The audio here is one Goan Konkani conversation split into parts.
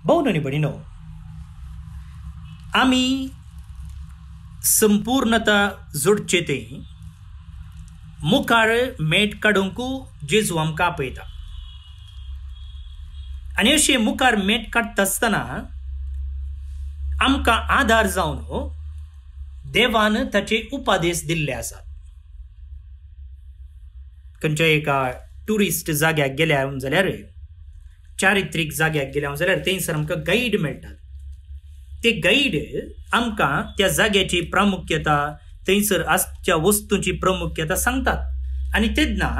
भोव आनी भयणीनो, आमी संपूर्णता जोडचे ते मुखार मेट काडूंक जेजू आमकां आपयता आनी अशें मुखार मेट काडटा आसतना आमकां आदार जावन देवान ताचे उपादेश दिल्ले आसात. खंयच्या एका ट्युरिस्ट जाग्याक गेल्या जाल्यार, चारित्रीक जाग्याक गेल्या जाल्यार थंयसर आमकां गायड मेळटात. ते गायड आमकां त्या जाग्याची प्रामुख्यता, थंयसर आसच्या वस्तूंची प्रामुख्यता सांगतात आनी तेन्ना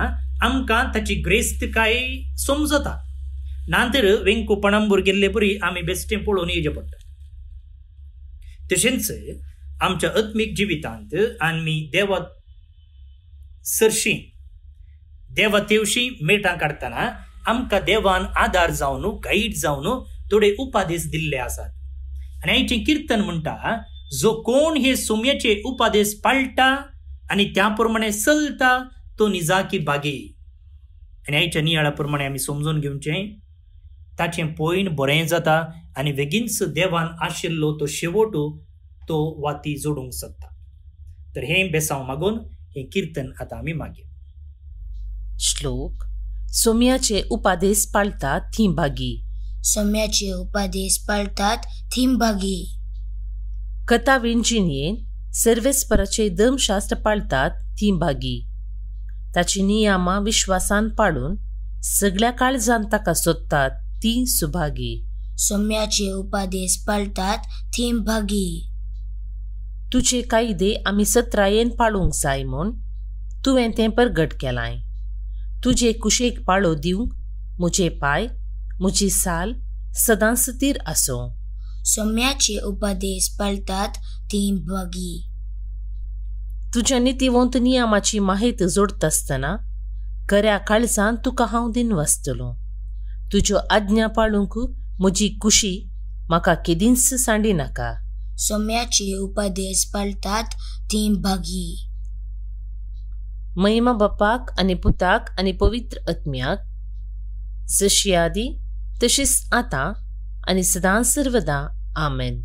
आमकां ताची ग्रेस्तकाय समजता. ना तर वेंकू पणांबूर गेल्ले परी आमी बेश्टें पळोवन येवचें पडटा. तशेंच आमच्या आत्मीक जिवितांत आमी देवा सरशी, देवा तेवशी मेटां काडटना आमकां देवान आदार जावन, गायड जावन थोडे उपादेश दिल्ले आसात. आनी आयचें किर्तन म्हणटा, जो कोण हे सोम्याचे उपादेश पाळटा आनी त्या प्रमाणे चलता तो निजाकी बागी. आनी आयच्या नियाळा प्रमाणे आमी समजून घेवचें, ताचें पयण बरें जाता आनी बेगीनच देवान आशिल्लो तो शेवट तो वाती जोडूंक शकता. तर हें बेसांव मागून हें किर्तन आतां आमी मागीर. श्लोक. सोम्याचे उपादेश पाळतात थीं भागी. सोम्याचे उपादेश पाळतात थीं भागी. कथा विंजिणयेन सर्वेस्पराचे धर्मशास्त्र पाळतात थीं भागी. ताची नियमां विश्वासान पाळून सगळ्या काळजान ताका सोदतात तीं सुभागी. सोम्याचे उपादेश पाळतात थीं भागी. तुजे कायदे आमी सत्रायेन पाळूंक जाय म्हूण तुवें तें परगट केलांय. तुजे कुशेक पाळो दिवंक म्हजे पांय, म्हजी साल सदांच स्थीर आसूं. सोम्याचे उपादेश पाळतात तीं भागी. तुज्या नितीवंत नियमाची माहिती जोडटा आसतना खऱ्या काळजान तुका हांव दिनवासतलो. तुज्यो आज्ञा पाळूंक म्हजी कुशी म्हाका केदींच सांडिनाका. सोम्याचे उपादेश पाळतात तीं भागी. महिमा बापाक आनी पुताक आनी पवित्र आत्म्याक, जशी आदी तशीच आतां आनी सदां सर्वदा. आमेन.